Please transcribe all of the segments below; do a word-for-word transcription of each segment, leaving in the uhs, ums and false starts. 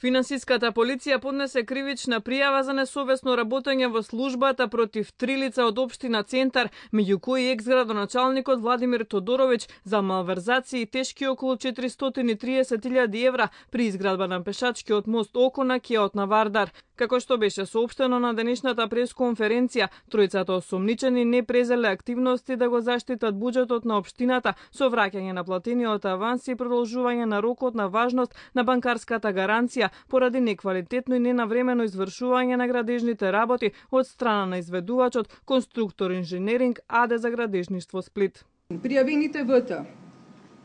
Финансиската полиција поднесе кривична пријава за несовесно работење во службата против три лица од општина Центар, меѓу кои екс-градоначалникот Владимир Тодоровиќ за малверзации тешки околу четиристотини и триесет илјади евра при изградба на пешачкиот мост око на кеот на Вардар. Како што беше соопштено на денешната пресконференција, тројцата осомничени не презеле активности да го заштитат буџетот на општината со враќање на платениот аванс и продолжување на рокот на важност на банкарската гаранција поради неквалитетно и ненавремено извршување на градежните работи од страна на изведувачот Конструктор инженеринг АД за градежништво Сплит. Пријавените ВТ,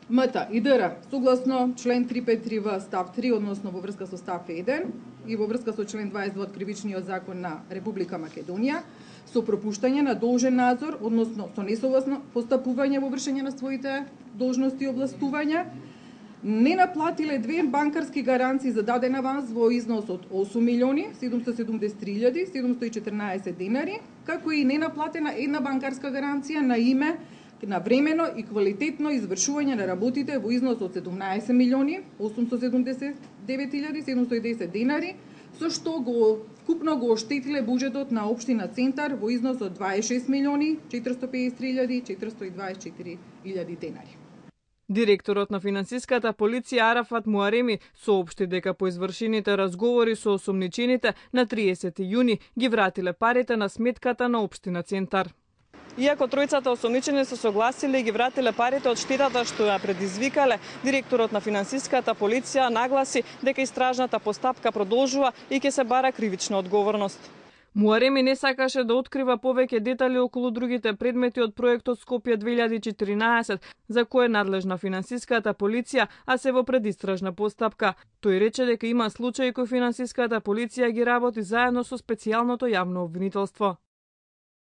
МТ и ДР согласно член триста петдесет и три В став три, односно во врска со став еден и во врска со член дваесет и два од Кривичниот закон на Република Македонија, со пропуштање на должен надзор, односно со несовесно постапување во вршење на своите должности и областувања, не наплатиле две банкарски гаранции за даден аванс во износ од осум милиони седумстотини седумдесет и три илјади седумстотини и четрнаесет денари, како и не наплатена една банкарска гаранција на име на времено и квалитетно извршување на работите во износ од седумнаесет милиони осумстотини седумдесет и девет илјади седумстотини и десет денари, со што го вкупно го оштетиле буџетот на општина Центар во износ од дваесет и шест милиони четиристотини и педесет и три илјади четиристотини и дваесет и четири илјади денари. Директорот на финансиската полиција Арафат Муареми соопшти дека по извршените разговори со осомничените на триесети јуни ги вратиле парите на сметката на општина Центар. Иако тројцата осомничени се согласиле и ги вратиле парите од штетата што ја предизвикале, директорот на финансиската полиција нагласи дека истражната постапка продолжува и ќе се бара кривична одговорност. Муареми не сакаше да открива повеќе детали околу другите предмети од проектот Скопје две илјади и четиринаесет, за кој е надлежна финансиската полиција, а се во предистражна постапка. Тој рече дека има случаи кои финансиската полиција ги работи заедно со специјалното јавно обвинителство.